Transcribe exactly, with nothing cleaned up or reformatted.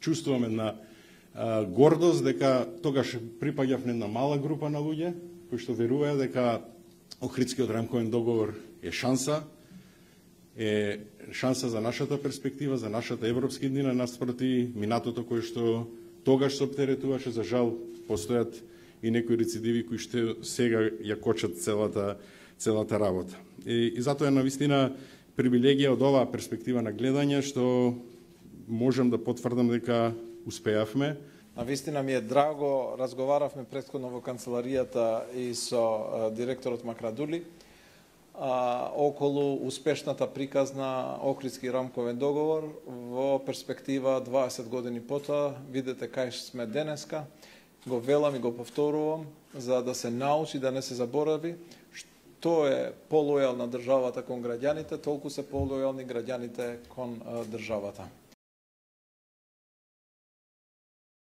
чувствувам една а, гордост дека тогаш припаѓав на една мала група на луѓе кои што веруваат дека Охридскиот рамковен договор е шанса, е шанса за нашата перспектива, за нашата европска иднина наспроти минатото кое што тогаш се оптеретуваше. За жал постојат и некои рецидиви кои што сега ја кочат целата целата работа. И, и затоа е навистина привилегија од оваа перспектива на гледање што можем да потврдам дека успеавме. Навистина ми е драго, разговаравме претходно во канцеларијата и со директорот Макрадули а, околу успешната приказна Охридски рамковен договор во перспектива дваесет години потоа. Видете кај сме денеска, го велам и го повторувам, за да се научи, да не се заборави, што е полојална државата кон граѓаните, толку се полојални граѓаните кон државата.